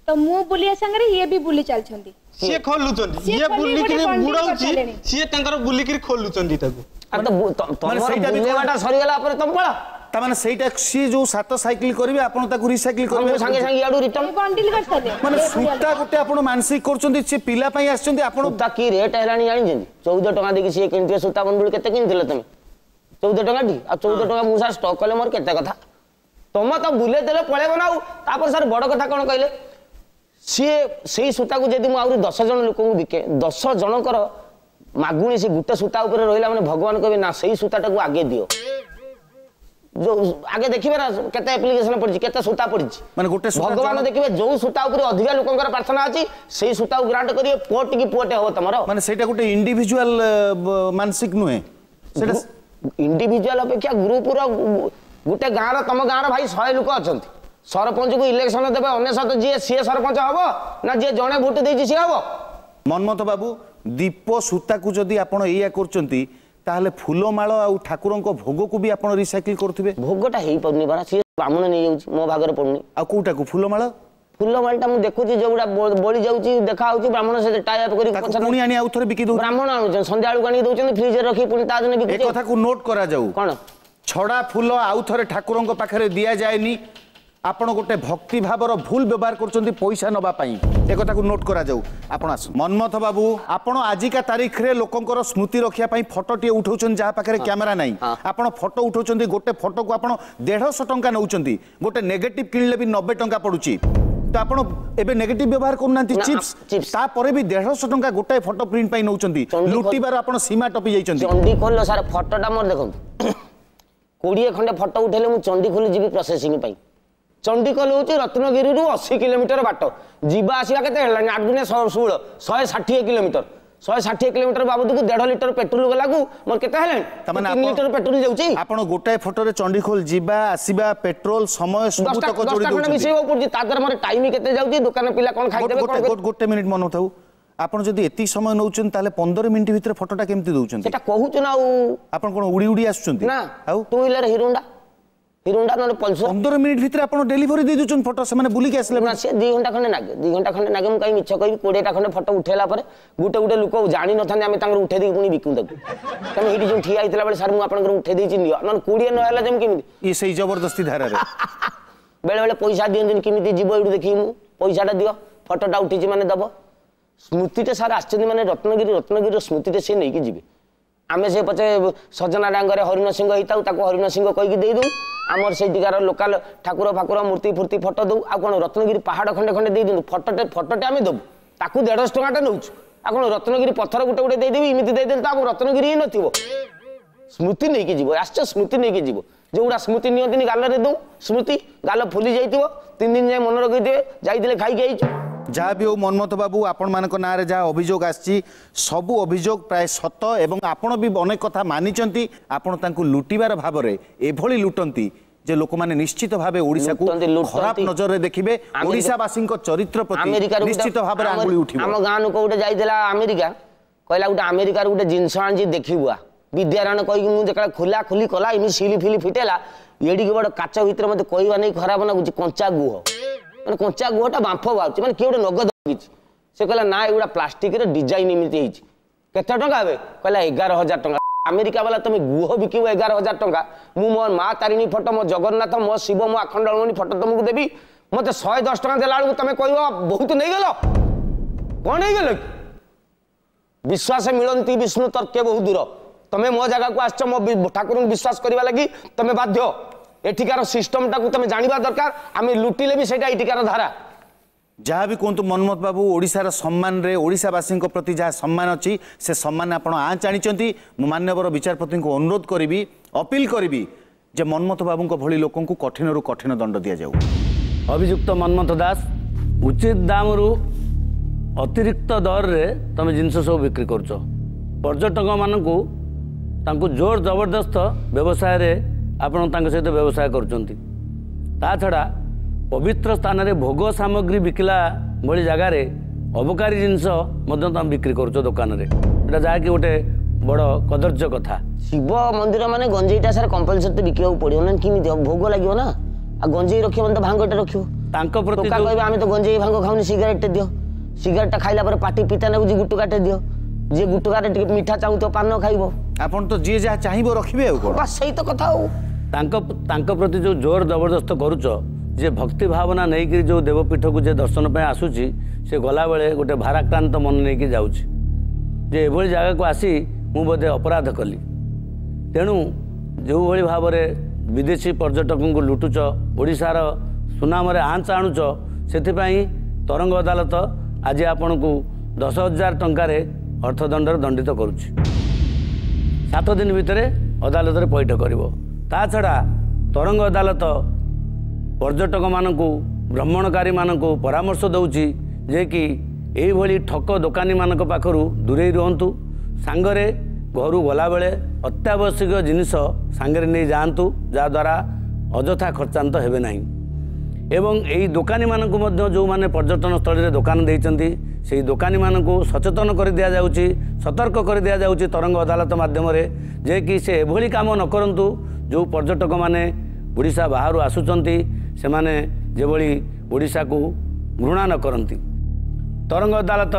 ତ ମୁଁ ବୁଲିବା ସାଙ୍ଗରେ ଇଏ ବି ବୁଲି ଚାଲିଛନ୍ତି। ସିଏ ଖୋଲୁଛନ୍ତି, ଇଏ ବୁଲିକିରି ବୁଡଉଛି, ସିଏ ତାଙ୍କର ବୁଲିକିରି ଖୋଲୁଛନ୍ତି ତାକୁ। ବୁଲିବାଟା ସରିଗଲା ପରେ ତମ ପଳା। ତାମାନେ ସେଇଟା ସିଏ ଯୋଉ ସାତ ସାଇକେଲ କରିବେ, ଆପଣ ତାକୁ ରିସାଇକେଲ କରିବେ ସାଙ୍ଗେ ସାଙ୍ଗେ ଇଆଡୁ ରିଟର୍ନ ବଣ୍ଡିଲ କରିସାରିଲେ। ମାନେ ସୂତା ଗୋଟେ ଆପଣ ମାନସିକ କରୁଛନ୍ତି, ସେ ପିଲା ପାଇଁ ଆସିଛନ୍ତି ଆପଣ। ସୂତା କି ରେଟ୍ ହେଲାଣି ଜାଣିଛନ୍ତି? ଚଉଦ ଟଙ୍କା ଦେଇକି ସିଏ କିଣିଥିବେ ସୂତା ବଣ୍ଡୁଳି। କେତେ କିଣିଥିଲ ତମେ? ଚଉଦ ଟଙ୍କା ଟି। ଆଉ ଚଉଦ ଟଙ୍କା ମୁଁ ସାର୍ ଷ୍ଟକ୍ କଲେ ମୋର କେତେ କଥା। ତମ ତ ବୁଲେଇ ଦେଲେ ପଳେଇବ ନା। ଆଉ ତାପରେ ସାର୍ ବଡ଼ କଥା କ'ଣ କହିଲେ, ସିଏ ସେଇ ସୂତାକୁ ଯଦି ମୁଁ ଆହୁରି ଦଶ ଜଣ ଲୋକଙ୍କୁ ବିକେ, ଦଶ ଜଣଙ୍କର ମାଗୁଣି ସେ ଗୋଟେ ସୂତା ଉପରେ ରହିଲା, ମାନେ ଭଗବାନ କହିବେ ନା ସେଇ ସୂତାଟାକୁ ଆଗେ ଦିଅ। ଯୋଉ ଆଗେ ଦେଖିବେ ନା କେତେ ଆପ୍ଲିକେସନ ପଡିଛି, କେତେ ସୂତା ପଡିଛି, ମାନେ ଗୋଟେ ଭଗବାନ ଦେଖିବେ ଯୋଉ ସୂତା ଉପରେ ଅଧିକା ଲୋକଙ୍କର ପ୍ରାର୍ଥନା ଅଛି ସେଇ ସୂତାକୁ ଗ୍ରାଣ୍ଟ କରିବେ। ପୁଅ ଟିକେ ପୁଅଟେ ହବ ତମର। ମାନେ ସେଇଟା ଗୋଟେ ଇଣ୍ଡିଭିଜୁଆଲ ମାନସିକ ନୁହେଁ, ସେଇଟା ଇଣ୍ଡିଭିଜୁଆଲ ଅପେକ୍ଷା ଗ୍ରୁପର। ଗୋଟେ ଗାଁର, ତମ ଗାଁର ଭାଇ ଶହେ ଲୋକ ଅଛନ୍ତି, ସରପଞ୍ଚକୁ ଇଲେକ୍ସନ ଦେବେ ଅନେଶତ ଯିଏ ସିଏ ସରପଞ୍ଚ ହବ ନା ଯିଏ ଜଣେ ଭୋଟ ଦେଇଛି ସିଏ ହବ? ମନ୍ମଥ ବାବୁ, ଦୀପ ସୂତାକୁ ଯଦି ଆପଣ ଏଇଆ କରୁଛନ୍ତି, ତାହେଲେ ଫୁଲମାଳ ଆଉ ଠାକୁରଙ୍କ ଭୋଗକୁ ବି ଆପଣ ରିସାଇକେଲ କରୁଥିବେ? ଭୋଗଟା ହେଇପାରୁନି ପରା, ସିଏ ବ୍ରାହ୍ମଣ ନେଇଯାଉଛି, ମୋ ଭାଗରେ ପଡୁନି। ଆଉ କୋଉଟାକୁ? ଫୁଲମାଳ? ଫୁଲମାଳଟା ମୁଁ ଦେଖୁଛି ଯୋଉଗୁଡ଼ା ବଳି ଯାଉଛି, ଦେଖା ହଉଛି, ବ୍ରାହ୍ମଣ ସେ ଟାଇ ଅପ୍ କରି ପୁଣି ଆଣି ଆଉ ଥରେ ବିକି ଦଉଛନ୍ତି। ବ୍ରାହ୍ମଣ ଆଣୁଛନ୍ତି ସନ୍ଧ୍ୟା ବେଳକୁ, ଆଣିକି ଦଉଛନ୍ତି ଫ୍ରିଜରେ ରଖି, ପୁଣି ତା ଦିନ ବିକୁଛି। ଏ କଥାକୁ ନୋଟ୍ କରାଯାଉ। କଣ? ଛଡ଼ା ଫୁଲ ଆଉ ଥରେ ଠାକୁରଙ୍କ ପାଖରେ ଦିଆଯାଏନି। ଆପଣ ଗୋଟେ ଭକ୍ତି ଭାବର ଭୁଲ ବ୍ୟବହାର କରୁଛନ୍ତି ପଇସା ନେବା ପାଇଁ, ଏ କଥାକୁ ନୋଟ୍ କରାଯାଉ। ଆପଣ ଆସନ୍ତୁ ମନ୍ମଥ ବାବୁ, ଆପଣ ଆଜିକା ତାରିଖରେ ଲୋକଙ୍କର ସ୍ମୃତି ରଖିବା ପାଇଁ ଫଟୋଟିଏ ଉଠାଉଛନ୍ତି, ଯାହା ପାଖରେ କ୍ୟାମେରା ନାହିଁ ଆପଣ ଫଟୋ ଉଠାଉଛନ୍ତି। ଗୋଟେ ଫଟୋକୁ ଆପଣ ଦେଢ଼ଶହ ଟଙ୍କା ନେଉଛନ୍ତି, ଗୋଟେ ନେଗେଟିଭ କିଣିଲେ ବି ନବେ ଟଙ୍କା ପଡୁଛି। ତ ଆପଣ ଏବେ ନେଗେଟିଭ ବ୍ୟବହାର କରୁନାହାନ୍ତି, ଚିପ୍ସ, ତାପରେ ବି ଦେଢ଼ଶହ ଟଙ୍କା ଗୋଟାଏ ଫଟୋ ପ୍ରିଣ୍ଟ ପାଇଁ ନେଉଛନ୍ତି। ଲୁଟିବାର ଆପଣ ସୀମା ଟପି ଯାଇଛନ୍ତି। ଚଣ୍ଡିଖୋଲ ସାର୍ ଫଟୋଟା ମୋର ଦେଖନ୍ତୁ, କୋଡ଼ିଏ ଖଣ୍ଡେ ଫଟୋ ଉଠେଇଲେ ମୁଁ ଚଣ୍ଡିଖୋଲ ଯିବି ପ୍ରୋସେସିଂ ପାଇଁ। ଚଣ୍ଡିଖୋଲ ହେଉଛି ରତ୍ନଗିରିରୁ ଅଶୀ କିଲୋମିଟର ବାଟ, ଯିବା ଆସିବା କେତେ ହେଲାଣି? ଆଠ ଦୁନେ ଷୋହଳ, ଶହେ ଷାଠିଏ କିଲୋମିଟର। ଶହେ ଷାଠିଏ କିଲୋମିଟର ବାବଦକୁ ଦେଢ଼ ଲିଟର ପେଟ୍ରୋଲ ଗଲାକୁ ମୋର କେତେ ହେଲାଣି? ତିନି ଲିଟର ପେଟ୍ରୋଲ ଯାଉଛି। ଆପଣ ଗୋଟାଏ ଫଟୋରେ ଚଣ୍ଡିଖୋଲ ଯିବା ଆସିବା, ପେଟ୍ରୋଲ, ସମୟ ସବୁତକ ଯୋଡ଼ି ଦଉଛନ୍ତି, ମିଶେଇବାକୁ ପଡୁଛି। ତା ଦ୍ୱାରା ମୋର ଟାଇମ କେତେ ଯାଉଛି, ଦୋକାନ ପିଲା କ'ଣ ଖାଇଦେବେ? ଗୋଟେ ମିନିଟ୍ ମନେ ଥାଉ, ଆପଣ ଯଦି ଏତିକି ସମୟ ନେଉଛନ୍ତି ତାହେଲେ ପନ୍ଦର ମିନିଟ୍ ଭିତରେ ଫଟୋଟା କେମିତି ଦଉଛନ୍ତି? ସେଟା କହୁଛୁ ନା। ଆଉ ଆପଣ କ'ଣ ଉଡ଼ି ଉଡ଼ି ଆସୁଛନ୍ତି? ନା, ଆଉ ଟୁ ହ୍ୱିଲର ହିରୋଣ୍ଡା, ହିରୋଣ୍ଡା ନହେଲେ ପଲସର। ପନ୍ଦର ମିନିଟ୍ ଭିତରେ ଆପଣ ଡେଲିଭରି ଦେଇ ଦଉଛନ୍ତି ଫଟୋ, ସେମାନେ ବୁଲିକି ଆସିଲେ? ନା, ସେ ଦୁଇ ଘଣ୍ଟା ଖଣ୍ଡେ ଲାଗେ, ଦୁଇ ଘଣ୍ଟା ଖଣ୍ଡେ ଲାଗେ। ମୁଁ କାହିଁ ମିଛ କହିବି? କୋଡ଼ିଏଟା ଖଣ୍ଡେ ଫଟୋ ଉଠେଇଲା ପରେ ଗୋଟେ ଗୋଟେ ଲୋକ ଜାଣିନଥାନ୍ତି, ଆମେ ତାଙ୍କର ଉଠେଇ ଦେଇକି ପୁଣି ବିକୁ ତାକୁ। ତମେ ଏଇଠି ଯୋଉ ଠିଆ ହେଇଥିଲା ବେଳେ ସାର୍ ମୁଁ ଆପଣଙ୍କର ଉଠେଇ ଦେଇଛି ନିଅ, ନହେଲେ କୋଡ଼ିଏ ନ ହେଲା ଯେମିତି କେମିତି? ଇଏ ସେଇ ଜବରଦସ୍ତି ଧାରାରେ ବେଳେ ବେଳେ ପଇସା ଦିଅନ୍ତିନି, କେମିତି ଯିବ ଏଇଠୁ ଦେଖିକି ମୁଁ ପଇସାଟା ଦିଅ, ଫଟୋଟା ଉଠିଛି ମାନେ ଦବ। ସ୍ମୃତିଟା ସାର୍ ଆସିଛନ୍ତି ମାନେ ରତ୍ନଗିରି, ରତ୍ନଗିରିର ସ୍ମୃତିଟା ସିଏ ନେଇକି ଯିବେ। ଆମେ ସେ ପଛେ ସଜନା ଡାଙ୍ଗରେ ହରିଣ ସିଂହ ହେଇଥାଉ, ତାକୁ ହରିଣ ସିଂହ କହିକି ଦେଇଦେଉ। ଆମର ସେଇଠିକାର ଲୋକାଲ ଠାକୁର ଫାକୁର ମୂର୍ତ୍ତି ଫୂର୍ତ୍ତି ଫଟୋ ଦେଉ। ଆଉ କ'ଣ ରତ୍ନଗିରି ପାହାଡ଼ ଖଣ୍ଡେ ଖଣ୍ଡେ ଦେଇ ଦିଅନ୍ତୁ, ଫଟୋଟେ ଫଟୋଟେ ଆମେ ଦେବୁ, ତାକୁ ଦେଢ଼ଶହ ଟଙ୍କାଟେ ନେଉଛୁ। ଆଉ କ'ଣ ରତ୍ନଗିରି ପଥର ଗୋଟେ ଗୋଟେ ଦେଇଦେବି, ଏମିତି ଦେଇଦେଲେ ତ ଆମ ରତ୍ନଗିରି ହିଁ ନଥିବ। ସ୍ମୃତି ନେଇକି ଯିବ, ଆସିଛ ସ୍ମୃତି ନେଇକି ଯିବ। ଯେଉଁଗୁଡ଼ା ସ୍ମୃତି ନିଅନ୍ତିନି ଗାଲରେ ଦେଉ, ସ୍ମୃତି ଗାଲ ଫୁଲି ଯାଇଥିବ, ତିନି ଦିନ ଯାଏଁ ମନେ ରଖିଥିବେ ଯାଇଥିଲେ ଖାଇକି ଆଇଛୁ। ଯାହା ବି ହଉ ମନ୍ମଥ ବାବୁ, ଆପଣମାନଙ୍କ ନାଁରେ ଯାହା ଅଭିଯୋଗ ଆସିଛି ସବୁ ଅଭିଯୋଗ ପ୍ରାୟ ସତ, ଏବଂ ଆପଣ ବି ଅନେକ କଥା ମାନିଛନ୍ତି। ଆପଣ ତାଙ୍କୁ ଲୁଟିବାର ଭାବରେ ଏଭଳି ଲୁଟନ୍ତି ଯେ ଲୋକମାନେ ନିଶ୍ଚିତ ଭାବେ ଓଡ଼ିଶାକୁ ଖରାପ ନଜରରେ ଦେଖିବେ, ଓଡ଼ିଶାବାସୀଙ୍କ ଚରିତ୍ର ପ୍ରତି ନିଶ୍ଚିତ ଭାବରେ ଆଙ୍ଗୁଳି ଉଠିବ। ଆମ ଗାଁ ଲୋକ ଗୋଟେ ଯାଇଥିଲା ଆମେରିକା, କହିଲା ଗୋଟେ ଆମେରିକାରୁ ଗୋଟେ ଜିନିଷ ଆଣିଛି ଦେଖିବୁ ଆ। ବିଦ୍ୟାରାଣ କହିକି ମୁଁ ଯେତେବେଳେ ଖୋଲା ଖୋଲି କଲା, ଏମିତି ସିଲି ଫିଲି ଫିଟେଲା, ଏଡ଼ିକି ବଡ଼ କାଚ ଭିତରେ ମୋତେ କହିବା ନେଇ ଖରାପ ଲାଗୁଛି, କଞ୍ଚା ଗୁହ, ମାନେ କଞ୍ଚା ଗୁହଟା ବାମ୍ଫ ବାହାରୁଛି, ମାନେ କିଏ ଗୋଟେ ନଗଦ କିଛି। ସେ କହିଲା ନା ଏଗୁଡ଼ା ପ୍ଲାଷ୍ଟିକର ଡିଜାଇନ ଏମିତି ହେଇଛି। କେତେ ଟଙ୍କା ଏବେ? କହିଲା ଏଗାର ହଜାର ଟଙ୍କା। ଆମେରିକା ବାଲା ତମେ ଗୁହ ବିକିବ ଏଗାର ହଜାର ଟଙ୍କା, ମୁଁ ମୋ ମା ତାରିଣୀ ଫଟୋ, ମୋ ଜଗନ୍ନାଥ, ମୋ ଶିବ, ମୋ ଆଖଣ୍ଡଳମଣି ଫଟୋ ତମକୁ ଦେବି, ମୋତେ ଶହେ ଦଶ ଟଙ୍କା ଦେଲା ବେଳକୁ ତମେ କହିବ ବହୁତ ନେଇଗଲ। କ'ଣ ନେଇଗଲ? ବିଶ୍ୱାସ ମିଳନ୍ତି ବିଷ୍ଣୁ ତର୍କେ ବହୁ ଦୂର। ତମେ ମୋ ଜାଗାକୁ ଆସିଛ, ମୋ ଠାକୁରଙ୍କୁ ବିଶ୍ୱାସ କରିବା ଲାଗି ତମେ ବାଧ୍ୟ। ଏଠିକାର ସିଷ୍ଟମଟାକୁ ତମେ ଜାଣିବା ଦରକାର। ଆମେ ଲୁଟିଲେ ବି ସେଇଟା ଏଠିକାର ଧାରା। ଯାହା ବି କୁହନ୍ତୁ ମନ୍ମଥ ବାବୁ, ଓଡ଼ିଶାର ସମ୍ମାନରେ, ଓଡ଼ିଶାବାସୀଙ୍କ ପ୍ରତି ଯାହା ସମ୍ମାନ ଅଛି ସେ ସମ୍ମାନ ଆପଣ ଆଞ୍ଚ ଆଣିଛନ୍ତି। ମୁଁ ମାନ୍ୟବର ବିଚାରପତିଙ୍କୁ ଅନୁରୋଧ କରିବି, ଅପିଲ କରିବି ଯେ ମନ୍ମଥ ବାବୁଙ୍କ ଭଳି ଲୋକଙ୍କୁ କଠିନରୁ କଠିନ ଦଣ୍ଡ ଦିଆଯାଉ। ଅଭିଯୁକ୍ତ ମନ୍ମଥ ଦାସ, ଉଚିତ ଦାମରୁ ଅତିରିକ୍ତ ଦରରେ ତମେ ଜିନିଷ ସବୁ ବିକ୍ରି କରୁଛ। ପର୍ଯ୍ୟଟକମାନଙ୍କୁ ତାଙ୍କୁ ଜୋର ଜବରଦସ୍ତ ବ୍ୟବସାୟରେ ଆପଣ ତାଙ୍କ ସହିତ ବ୍ୟବସାୟ କରୁଛନ୍ତି। ତା ଛଡ଼ା ପବିତ୍ର ସ୍ଥାନରେ ଭୋଗ ସାମଗ୍ରୀ ବିକିଲା ଭଳି ଜାଗାରେ ଅବକାରୀ ଜିନିଷ ମଧ୍ୟ ତମେ ବିକ୍ରି କରୁଛ ଦୋକାନରେ। ଏଇଟା ଯାହାକି ଗୋଟେ ବଡ଼ କଦର୍ଯ୍ୟ କଥା। ଶିବ ମନ୍ଦିର ମାନେ ଗଞ୍ଜେଇଟା ସାର୍ କମ୍ପଲସରି ତ ବିକିବାକୁ ପଡ଼ିବ ନା, କେମିତି ଭୋଗ ଲାଗିବ ନା। ଆଉ ଗଞ୍ଜେଇ ରଖିବ ମାନେ ତ ଭାଙ୍ଗଟା ରଖିବ। ତାଙ୍କ ପ୍ରତି କହିବେ ଆମେ ତ ଗଞ୍ଜେଇ ଭାଙ୍ଗ ଖାଉନି, ସିଗାରେଟଟେ ଦିଅ। ସିଗାରେଟଟା ଖାଇଲା ପରେ ପାଟି ପିତା ଲାଗୁଛି, ଗୁଟୁକାଟେ ଦିଅ। ଯିଏ ଗୁଟୁକାରେ ଟିକେ ମିଠା ଚାହୁଁଥିବ ପାନ ଖାଇବ। ଆପଣ ତ ଯିଏ ଯାହା ଚାହିଁବ ରଖିବେ, ଆଉ କ'ଣ? ବାସ୍ ସେଇ ତ କଥା। ଆଉ ତାଙ୍କ ତାଙ୍କ ପ୍ରତି ଯେଉଁ ଜୋର ଜବରଦସ୍ତ କରୁଛ, ଯେ ଭକ୍ତି ଭାବନା ନେଇକରି ଯେଉଁ ଦେବପୀଠକୁ ଯେ ଦର୍ଶନ ପାଇଁ ଆସୁଛି, ସେ ଗଲାବେଳେ ଗୋଟେ ଭାରାକ୍ରାନ୍ତ ମନ ନେଇକି ଯାଉଛି ଯେ ଏଭଳି ଜାଗାକୁ ଆସି ମୁଁ ବୋଧେ ଅପରାଧ କଲି। ତେଣୁ ଯେଉଁଭଳି ଭାବରେ ବିଦେଶୀ ପର୍ଯ୍ୟଟକଙ୍କୁ ଲୁଟୁଛ, ଓଡ଼ିଶାର ସୁନାମରେ ଆଞ୍ଚ ଆଣୁଛ, ସେଥିପାଇଁ ତରଙ୍ଗ ଅଦାଲତ ଆଜି ଆପଣଙ୍କୁ ଦଶ ହଜାର ଟଙ୍କାରେ ଅର୍ଥଦଣ୍ଡରେ ଦଣ୍ଡିତ କରୁଛି। ସାତ ଦିନ ଭିତରେ ଅଦାଲତରେ ପଇଠ କରିବ। ତା ଛଡ଼ା ତରଙ୍ଗ ଅଦାଲତ ପର୍ଯ୍ୟଟକମାନଙ୍କୁ, ଭ୍ରମଣକାରୀମାନଙ୍କୁ ପରାମର୍ଶ ଦେଉଛି ଯେ କି ଏଇଭଳି ଠକ ଦୋକାନୀମାନଙ୍କ ପାଖରୁ ଦୂରେଇ ରୁହନ୍ତୁ। ସାଙ୍ଗରେ ଘରୁ ଗଲାବେଳେ ଅତ୍ୟାବଶ୍ୟକ ଜିନିଷ ସାଙ୍ଗରେ ନେଇ ଯାଆନ୍ତୁ, ଯାହାଦ୍ୱାରା ଅଯଥା ଖର୍ଚ୍ଚାନ୍ତ ହେବେ ନାହିଁ। ଏବଂ ଏହି ଦୋକାନୀମାନଙ୍କୁ ମଧ୍ୟ, ଯେଉଁମାନେ ପର୍ଯ୍ୟଟନସ୍ଥଳୀରେ ଦୋକାନ ଦେଇଛନ୍ତି, ସେଇ ଦୋକାନୀମାନଙ୍କୁ ସଚେତନ କରି ଦିଆଯାଉଛି, ସତର୍କ କରି ଦିଆଯାଉଛି ତରଙ୍ଗ ଅଦାଲତ ମାଧ୍ୟମରେ ଯେ କି ସେ ଏଭଳି କାମ ନ କରନ୍ତୁ। ଯେଉଁ ପର୍ଯ୍ୟଟକମାନେ ଓଡ଼ିଶା ବାହାରୁ ଆସୁଛନ୍ତି ସେମାନେ ଯେଭଳି ଓଡ଼ିଶାକୁ ଘୃଣା ନ କରନ୍ତି। ତରଙ୍ଗ ଅଦାଲତ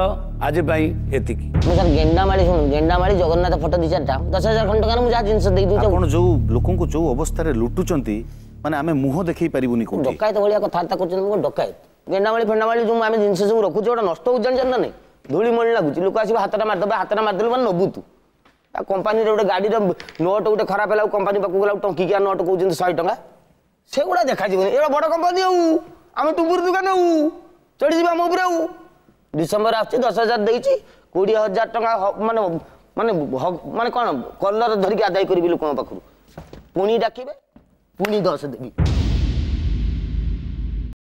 ଆଜି ପାଇଁ ଏତିକି। ମୁଁ ସାର୍ ଗେଣ୍ଡାମାଳି, ଶୁଣୁ, ଗେଣ୍ଡାମାଳି ଜଗନ୍ନାଥ ଫଟୋ ଦୁଇ ଚାରିଟା ଦଶ ହଜାର ଖଣ୍ଡ ଟଙ୍କାରେ ମୁଁ ଯାହା ଜିନିଷ ଦେଇଦେଉଛି। ଆପଣ ଯେଉଁ ଲୋକଙ୍କୁ ଯେଉଁ ଅବସ୍ଥାରେ ଲୁଟୁଛନ୍ତି, ମାନେ ଆମେ ମୁହଁ ଦେଖେଇ ପାରିବୁନି। କୋଉଠି ଡକାୟତ ଭଳିଆ କଥାବାର୍ତ୍ତା କରୁଛନ୍ତି। ମୁଁ ଡକାୟତ? ଗେଣ୍ଡାମାଳି ଫେଣ୍ଡାମାଳି ଯେଉଁ ଆମେ ଜିନିଷ ସବୁ ରଖୁଛୁ, ଗୋଟେ ନଷ୍ଟ ହେଉଛି ଜାଣିଛନ୍ତି ନା ନାଇଁ? ଧୂଳି ମଳି ଲାଗୁଛି, ଲୋକ ଆସିବ ହାତଟା ମାରିଦେବେ, ହାତଟା ମାରିଦେଲେ ମାନେ ନବୁ ତୁ। ଆଉ କମ୍ପାନୀରେ ଗୋଟେ ଗାଡ଼ିର ନୋଟ୍ ଗୋଟେ ଖରାପ ହେଲା, କମ୍ପାନୀ ପାଖକୁ ଗଲା, ଟଙ୍କିକିଆ ନୋଟ୍ କହୁଛନ୍ତି ଶହେ ଟଙ୍କା। ସେଗୁଡ଼ା ଦେଖାଯିବନି। ଏଗୁଡ଼ା ବଡ଼ କମ୍ପାନୀ, ଆଉ ଆମେ ଟୁମ୍ବୁର ଦୋକାନ, ଆଉ ଚଢ଼ିଯିବା ଆମ ଉପରେ। ଆଉ ଡିସେମ୍ବର ଆସୁଛି, ଦଶ ହଜାର ଦେଇଛି, କୋଡ଼ିଏ ହଜାର ଟଙ୍କା ମାନେ ମାନେ ମାନେ କ'ଣ କଲର ଧରିକି ଆଦାୟ କରିବି ଲୋକଙ୍କ ପାଖରୁ। ପୁଣି ଡାକିବେ, ପୁଣି ଦଶ ଦେବି।